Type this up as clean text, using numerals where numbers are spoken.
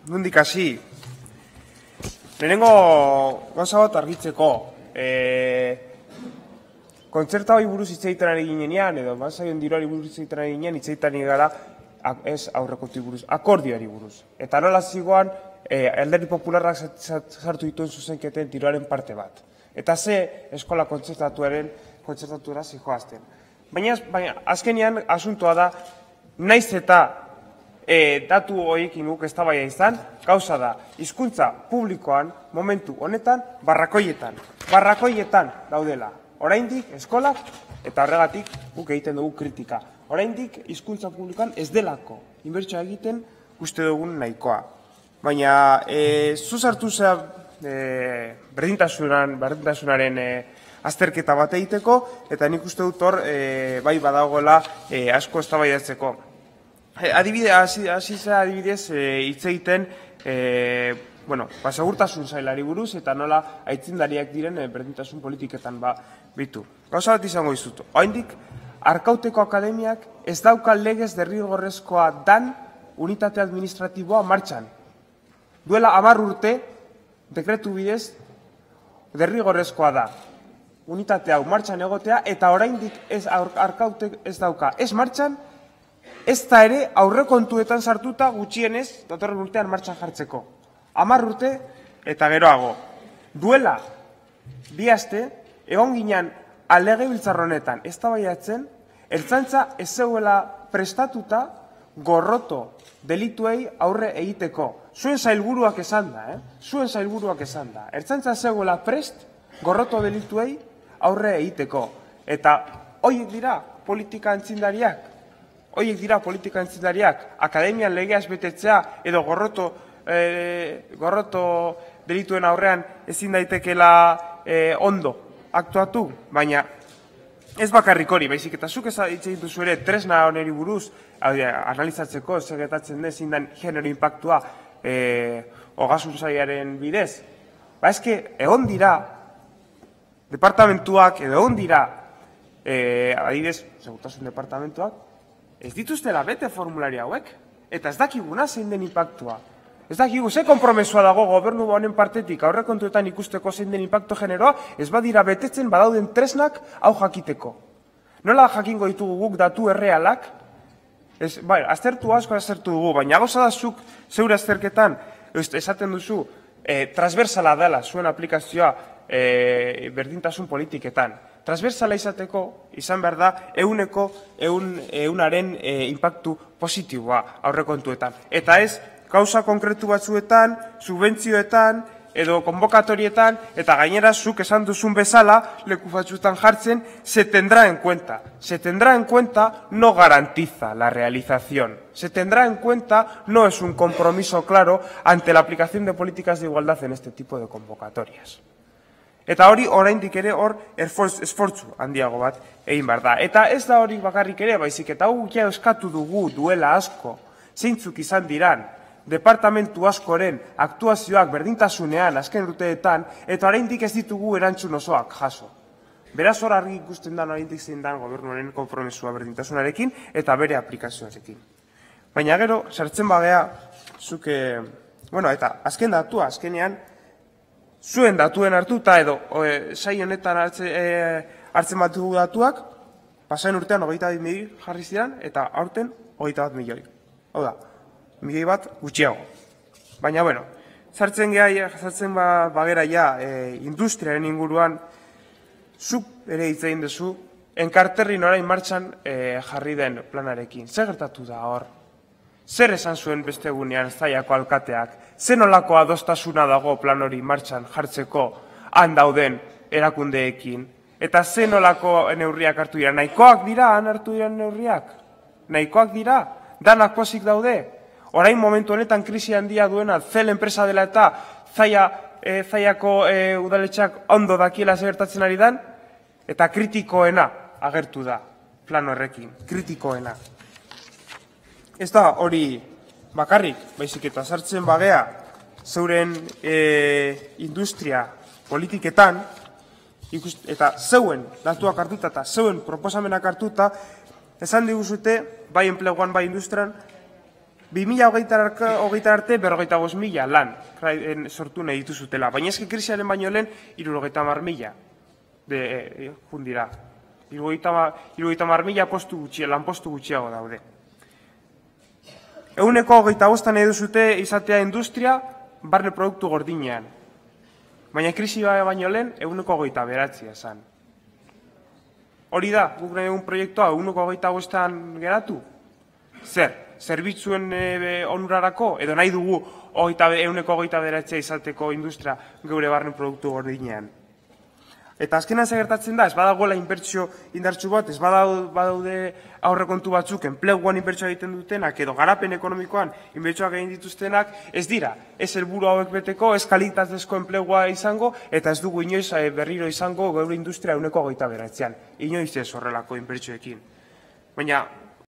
nondik hasi. Lehenengo gauza bat argitzeko, kontzerta hori buruz hitz egiten ari ginean, edo bazaion diruari buruz hitz egiten ari ginean, hitz egiten ari gara, ez aurrekontuei buruz, akordioari buruz. Eta nola zigoan, Alderdi Popularrak sartu dituen zuzenketen diruaren parte bat. Eta ze eskola kontzertatuera zijoazten. Baina azkenean asuntoa da, naiz eta datu horiekin guk eztabaida izan, gauza da, hizkuntza publikoan, momentu honetan, barrakoietan daudela. Oraindik eskolak, eta horregatik guk egiten dugu kritika. Oraindik hizkuntza publikoan ez delako, inbertsioa egiten uste dugun nahikoa. Baina, zu sartu zea berdintasunaren azterketa bat egiteko, eta nik uste dut hor, bai badagoela asko eztabaidatzeko. Adibidez, hitz egiten, segurtasun sailari buruz, eta nola aitzindariak diren berdintasun politiketan bitu. Gauza bat izango dizut. Oraindik, Arkauteko Akademiak ez dauka legez derrigorrezkoa dan unitate administratiboa martxan. Duela 10 urte, dekretu bidez, derrigorrezkoa da. Unitate hau martxan egotea, eta oraindik Arkautek ez dauka. Ez martxan, ez da ere aurrekontuetan sartuta gutxienez datorren urtean martxan jartzeko. 10 urte eta geroago. Duela, 2 aste, egon ginen legebiltzar honetan eztabaidatzen, Ertzaintza ez zegoela prestatuta gorroto delituei aurre egiteko. Zuen sailburuak esan da, Ertzaintza ez zegoela prest gorroto delituei aurre egiteko. Eta horiek dira politika aintzindariak. Akademian legeaz betetzea edo gorroto delituen aurrean ezin daitekela ondo aktuatu, baina ez bakarrik hori, baizik eta zuk hitz egin duzu ere tresna honeri buruz analizatzeko zer gertatzen den zein den genero inpaktua ogasun sailaren bidez. Eske egon dira departamentuak edo egon dira adibidez segurtasun departamentuak ez dituztela bete formulari hauek eta ez dakiguna zein den inpaktua. Ez dakigu, ze konpromesua dago gobernu honen partetik aurrekontuetan ikusteko zein den inpakto generoa, ez badira betetzen badauden tresnak hau jakiteko. Nola jakingo ditugu guk datu errealak? Aztertu dugu, baina gauza da zuk zeure azterketan esaten duzu transversala dela zuen aplikazioa berdintasun politiketan. Transversala izateko izan behar da ehunaren inpaktu positiboa aurrekontuetan. Eta ez, gauza konkretu batzuetan, subentzioetan, edo konbokatorietan, eta gainera zuk esan duzun bezala, leku batzuetan jartzen, se tendrá en cuenta. Se tendrá en cuenta no garantiza la realización. Se tendrá en cuenta no es un compromiso claro ante la aplicación de políticas de igualdad en este tipo de convocatorias. Eta hori oraindik ere hor esfortzu handiago bat egin behar da. Eta ez da hori bakarrik ere, baizik eta ja eskatu dugu duela asko, zeintzuk izan diran, departamentu askoren aktuazioak berdintasunean azken urteetan, eta oraindik ez ditugu erantzun osoak jaso. Beraz hor argi ikusten da oraindik zein da gobernuaren konpromesua berdintasunarekin eta bere aplikazioarekin. Baina gero, sartzen bagea, eta azken datua, azkenean, zuen datuen hartuta edo sail honetan hartzen bat dugu datuak, pasain urtean 22 milioi jarri ziren, eta aurten 21 milioi. Hau da, milioi bat gutxiago. Baina, sartzen bagera industriaren inguruan, zuk ere hitz egin duzu, enkarterrin orain martxan jarri den planarekin. Zer gertatu da hor? Zer esan zuen beste egunean Zallako alkateak? Zer nolako adostasuna dago plan hori martxan jartzeko han dauden erakundeekin? Eta zer nolako neurriak hartu dira? Nahikoak dira han hartu diren neurriak? Nahikoak dira? Danak pozik daude? Orain momentu honetan krisi handia duena Zel enpresa dela eta Zallako udaletxeak ondo dakiela zer gertatzen ari dan, eta kritikoena agertu da plan horrekin, kritikoena. Ez da hori bakarrik, baizik eta sartzen bagea zeuren industria politiketan, eta zeuen datuak hartuta eta zeuen proposamenak hartuta, esan diguzute, bai enpleguan, bai industrian, 2020 arte 45.000 lan sortu nahi dituzutela, baina eski krisiaren baino lehen 70.000 jundira. 70.000 lanpostu gutxiago daude. 25% nahi duzute izatea industria barne produktu gordinean. Baina krisi baino lehen 29% esan. Hori da, guk nahi dugun proiektua 25%an geratu? Zer? Zerbitzuen onurarako, edo nahi dugu 29% izateko industria geure barne produktu gordinean. Eta azkenan zer gertatzen da, ez badagoela inbertsio indartsu bat, ez badaude aurrekontu batzuk enpleguan inbertsioa egiten dutenak, edo garapen ekonomikoan inbertsioak egin dituztenak, ez dira, ez helburu hauek beteko, ez kalitatezko enplegua izango, eta ez dugu inoiz berriro izango geure industria 29%an. Inoiz ez horrelako inbertsioekin. Baina,